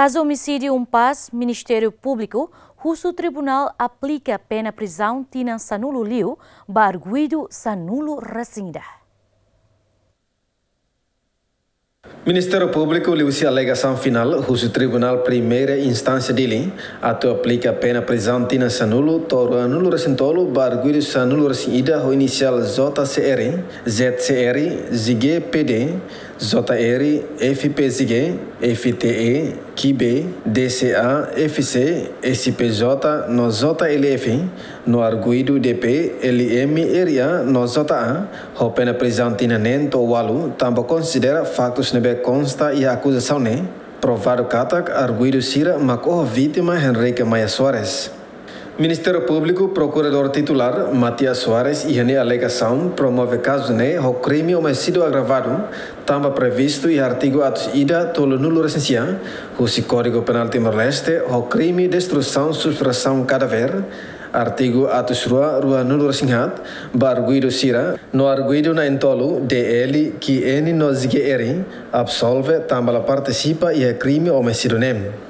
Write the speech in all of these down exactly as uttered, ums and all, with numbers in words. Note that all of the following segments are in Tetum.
Kazu omisídiu Umpás, Ministériu Públiku husu tribunál aplika pena prizaun tinan sanulu liu ba arguidu sanulu-resin-ida. Ministériu Públiku liuhusi alegasaun finál husu Tribunál Primeira Instánsia Dili atu aplika pena prizaun tinan sanulu to'o ruanulu-resin-tolu ba arguidu sanulu-resin-ida ho inisiál J C R, Z C R, ZG P D, J R, F P Z G, F T E, Kibe, D C A, F C, S P J no J L F, no arguidu D P, L M, R A no J A, ho pena prizaun tinan neen to'o ualu, tanba konsidera faktus ne'ebé konsta iha akuzasaun ne'e provadu katak arguidu sira mak oho vítima Henrique Maia Soares. Ministériu Públiku Prokuradór Titulár Matias Soares iha nia alegasaun promove kazu ne'e ho krime omisídiu agravadu, tanba previstu iha artigu atus ida tolunulu-resin-sia husi Kódigu Penál Timor-Leste ho krime destruisaun subtrasaun kadáver, artigu atus rua ruanulu-resin-haat, ba arguidu sira, no arguidu na'in-tolu D L, Q N no Z G R, absolve tanba la partisipa iha krime omisídiu ne'e.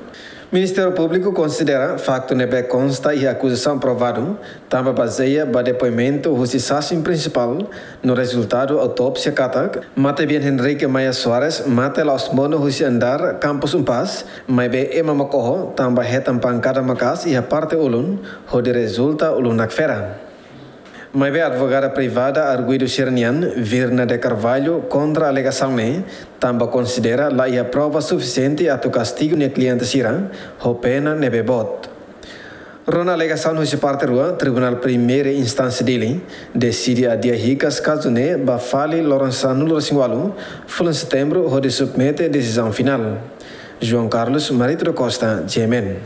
Ministériu Públiku konsidera faktu ne'ebé konsta iha akuzasaun provadu, tanba bazeia ba depoimentu husi sasin prinsipál no rezultadu autópsia katak matebian Henrique Maia Soares mate la'ós monu husi andár Kampus Umpás, maibé ema mak oho tanba hetan pankada maka'as iha parte ulun, hodi rezulta ulun nakfera. Maibé advogada privada arguidu sira-nian, Virna de Carvalho, kontra alegasaun ne'e, tanba konsidera la iha prova sufisiente atu kastigu nia kliente sira ho pena ne'ebé boot. Rona alegasaun husi parte rua, Tribunál Primeira Instánsia Dili deside adia hikas kazu ne'e ba fali loron sanulu-resin-ualu fulan Setembru hodi submete desizaun finál. João Carlos Marito da Costa, G M N.